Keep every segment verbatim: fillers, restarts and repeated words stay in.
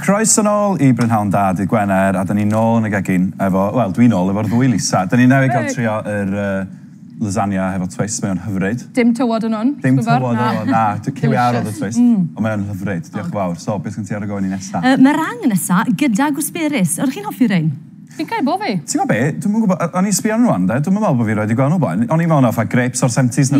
Croeso nôl i Brynhawn Da, dydd Gwener, a da ni nôl yn y gegin efo, wel, dwi nôl efo'r ddwy Lisa. Da ni newydd cael trio yr uh, lasagna hefo twist, mae o'n hyfryd. Dim tywod yn hwn. Dim tywod yn hwn, na. Cyw iâr oedd y twist, mm. Ond mae o'n hyfryd, diolch yn fawr. So, beth gen ti ar y go i ni nesa? Uh, meringue nesa, gyda gooseberries. Oeddech chi'n hoffi rein? Fi'n cael bo fi. Ti'n gwybod be? Dwi'm yn gwybod, o'n i'n sbio arnyn nhw wan, de? Dwi'm yn meddwl bod fi roed i gweld nhw blaen. O'n i'n meddwl fatha grapes o'r seventies na.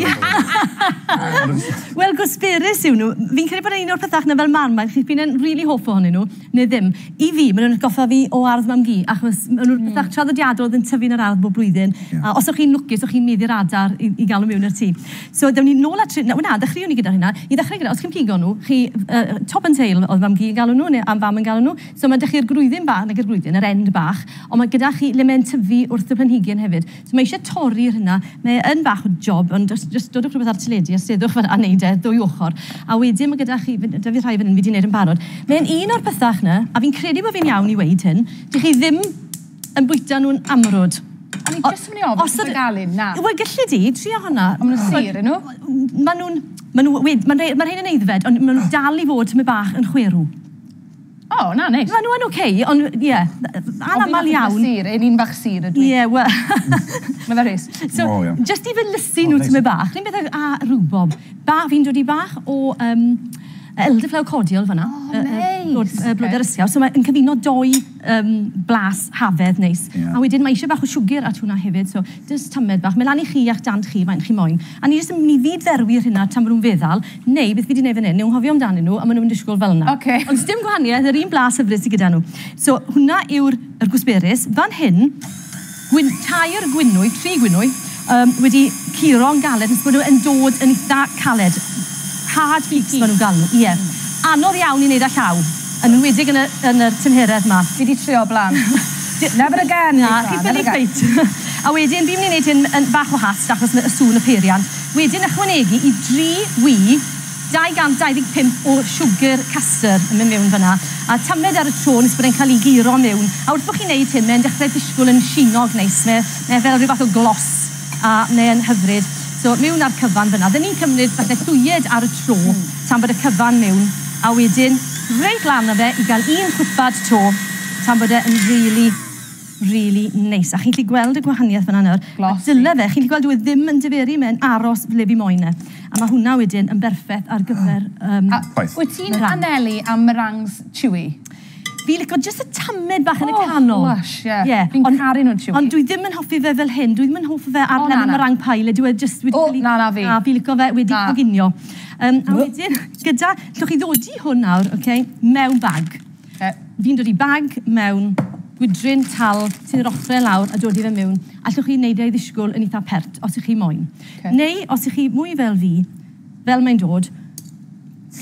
Wel, gooseberries yw nhw. Fi'n credu bod un o'r pethau na fel Marmite, chi'n fi'n really hoff ohonyn nhw, neu ddim. I fi, maen nhw'n atgoffa fi o ardd mam-gu, achos maen nhw'n pethau traddodiadol oedd yn tyfu yn yr ardd bob blwyddyn. Yeah. A os o'ch chi'n lwcus, o'ch chi'n meddu'r adar i, i gael nhw mewn i'r tŷ. So, dewn ni nôl at... Na, na, ddechreuwn ni gyda hynna. I ddechrau gyda, os chi'n pigo nhw, chi, uh, top and tail oedd mam-gu yn galw nhw, neu am fam yn galw nhw. So, mae'n dechrau'r gwreiddyn bach, nag yr gwreiddyn, yr end bach, ond mae gyda chi le mae'n tyfu wrth y planhigyn hefyd. So mae eisiau torri'r hynna. Mae yn bach o job, ond just, just dodwch rhywbeth ar teledu a steddwch fan a neud e ddwy ochr. A wedyn mae gyda chi, da fi rhai fan hyn, fi wedi wneud yn barod. Mae'n un o'r pethau yna, a fi'n credu bod fi'n iawn i weud hyn, dych chi ddim yn bwyta nhw'n amrwd. O'n i jyst yn mynd i ofyn, ti'n gael un, na. Wel, gallu di, trio hwnna. Ond maen nhw'n sur, nhw? Maen nhw'n, maen nhw, maen rhain yn aeddfed, ond maen nhw dal i fod tymed bach yn chwerw. O, oh, na, neis. Maen nhw yn oce, ond ie, anamal iawn. Sur, ein un bach sur ydw i. Ie, wel. Mae fe rhys. So, oh, yeah. Just i felysu nhw oh, tymed bach, rhywun beth a rwbob. Ba, fi'n dod i bach o um, elderflower cordial fan'na. Oh, neis. Blodau'r ysgaw. So mae'n cyfuno doi um, blas hafedd neis. Yeah. A wedyn mae eisiau bach o siwgr at hwnna hefyd, so just tamed bach. Mae lan i chi a'ch dant chi, faint chi moyn. A ni jyst yn mynd i ddydderwi'r hynna tan maen nhw'n feddal, neu beth fi wedi gwneud fan hyn, nhw'n hofio amdanyn nhw, a maen nhw'n disgwyl fel yna. Okay. Ond dim gwahaniaeth, yr un blas hyfryd sydd gyda nhw. So hwnna yw'r yr gooseberries. Fan hyn, gwyn, tair gwynwy, tri gwynwy, um, wedi curo'n galed, nes bod nhw yn dod yn eitha caled. Hard peaks maen nhw'n gael nhw, ie. Mm. Anodd iawn i wneud â llaw, yn enwedig yn y, yn y tymheredd yma. Fi wedi trio blaen. Never again, Na, chi'n ffili ffeit. A wedyn, fi'n mynd i wneud hyn yn bach o hast, achos y sŵn y peiriant. Wedyn ychwanegu i dri wy, dau gant dau ddeg pump o siwgr castor yn mynd mewn fyna. A tamed ar y tro nes bod e'n cael ei guro mewn. A wrth bod chi'n neud hyn, mae'n dechrau disgwyl yn sinog neis. Mae, mae fel rhyw fath o glos, a mae'n hyfryd. So, mewn ar cyfan fyna. Dyn ni'n cymryd falle llwyed ar y tro, mm. tan bod y cyfan mewn, a wedyn reit lan o fe i gael un cwpad to, tan bod e yn really, really neis. A chi'n gallu gweld y gwahaniaeth fyna nawr. Glossy. Dyle fe, chi'n gallu gweld dyw e ddim yn diferu, mae'n aros le fi moyn e. A mae hwnna wedyn yn berffaith ar gyfer um, A wyt ti'n anelu am meringues chewy? Fi licio jyst y tamed bach yn y oh, canol. Lush, ie. Yeah. Fi'n caru nhw'n chewy. Ond dwi ddim yn hoffi fe fel hyn. Dwi ddim yn hoffi fe ar oh, len y meringue pie. Le dwi e just wedi oh, cael ei... Na, na fi. Na, fi licio fe wedi coginio. Um, a wedyn, gyda, llwch chi ddodi hwn nawr, okay, mewn bag. Okay. Fi'n dod i bag mewn gwydryn tal sy'n yr ochrau lawr a dod i fe mewn. A llwch chi wneud e i ddisgwyl yn eitha pert, os ych chi moyn. Okay. Neu, os ych chi mwy fel fi, fel mae'n dod,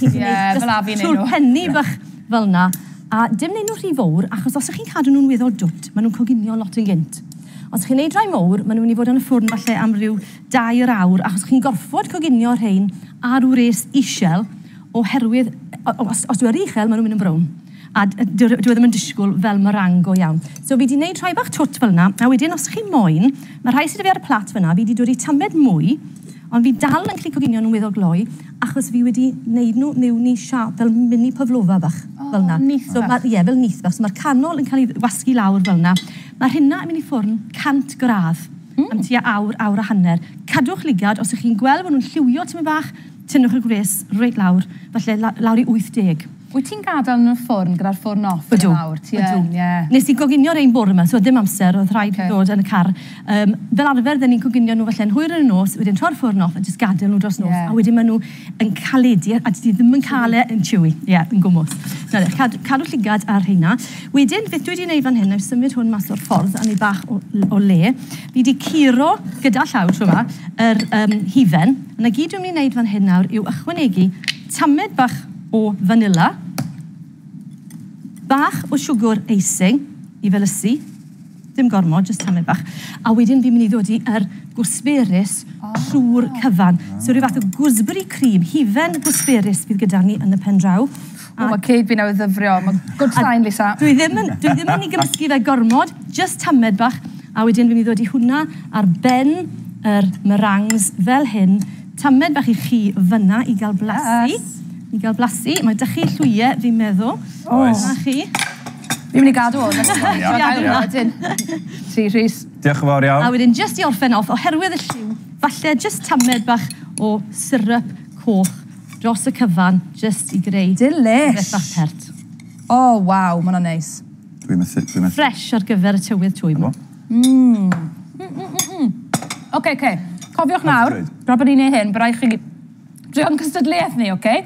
chi'n yeah, fel a fi'n neud nhw. Trwy'r penni bach fel na. A dim neud nhw rhy fawr, achos os ych chi'n cadw nhw'n weddol dwt, maen nhw'n coginio lot yn gynt. Os chi'n neud rhai mowr, maen nhw'n mynd i fod yn y ffwrn falle am ryw dair awr, achos chi'n gorfod coginio rhain ar wres isel, oherwydd, os, os dwi ar uchel, maen nhw'n mynd yn brown. A dwi e ddim yn disgwyl fel meringue go iawn. So fi wedi wneud rhai bach twt fel yna, a wedyn os chi moyn, mae rhai sydd 'da fi ar y plat fyna, fi wedi dod i tamed mwy, ond fi dal yn gallu coginio nhw'n weddol gloi, achos fi wedi wneud nhw mewn i siâp fel mini pavlova bach, oh, fel 'na. Nyth so, bach. Ie, fel nyth bach. So mae'r canol yn cael ei wasgu lawr fel 'na. Mae'r hynna yn mynd i ffwrn cant gradd mm. am tua awr, awr a hanner. Cadwch ligad, os ych chi'n gweld bod nhw'n lliwio tymed bach, tynnwch y gwres reit lawr, falle lawr i wyth deg. Wyt ti'n gadael yn y ffwrn gyda'r ffwrn off yn awr? Ydw, ydw. Nes i goginio'r ein bore yma, so ddim amser, oedd rhaid okay. ddod yn y car. Um, fel arfer, dyn ni'n coginio nhw felly'n hwyr yn y nos, wedyn troi'r ffwrn off a jyst gadael nhw dros nos. Yeah. A wedyn maen nhw yn caledu, a dydyn ddim yn cael e yn chewy. Ie, yeah, yn gwmws. Nawr, cadw, cadw llygad ar rheina. Wedyn, beth dwi wedi gwneud fan hyn, na i symud hwn mas o'r ffordd, a ni bach o, o le. Fi wedi curo gyda llaw tro yma, yr um, hufen. A na gyd dwi'n mynd i wneud fan hyn nawr yw ychwanegu tamed bach o vanilla, bach o siwgr icing i felysu, dim gormod, jyst tamed bach. A wedyn fi'n mynd i ddod i yr gooseberries oh. trwy'r cyfan. So rhyw fath o gooseberry cream, hufen gooseberries fydd gyda ni yn y pen draw. O, mae ceg fi newydd ddyfrio. Mae good sign, Lisa. Dwi ddim yn, dwi ddim yn ei gymysgu fe gormod, jyst tamed bach. A wedyn fi'n mynd i ddod i hwnna ar ben yr meringues fel hyn. Tamed bach i chi fyna i gael blasu. Yes. I gael blasu. Mae dych chi llwyau, fi'n meddwl. Oes. Na chi. Fi'n mynd i gadw hwn. Ia, ia. Wedyn. Ti, Rhys. Diolch yn fawr A iawn. wedyn, just i orffen off, oherwydd y lliw, falle just tamed bach o syrup coch dros y cyfan, just i greu Delish. rhywbeth bach pert. O, oh, waw, ma' hwnna'n neis. Dwi'n methu, dwi'n methu. Fresh ar gyfer y tywydd twym. Efo. Oce, oce. Cofiwch nawr, Hyfryd. tra bod ni'n neud hyn, bydd rhaid chi drio'n cystadleuaeth ni, oce?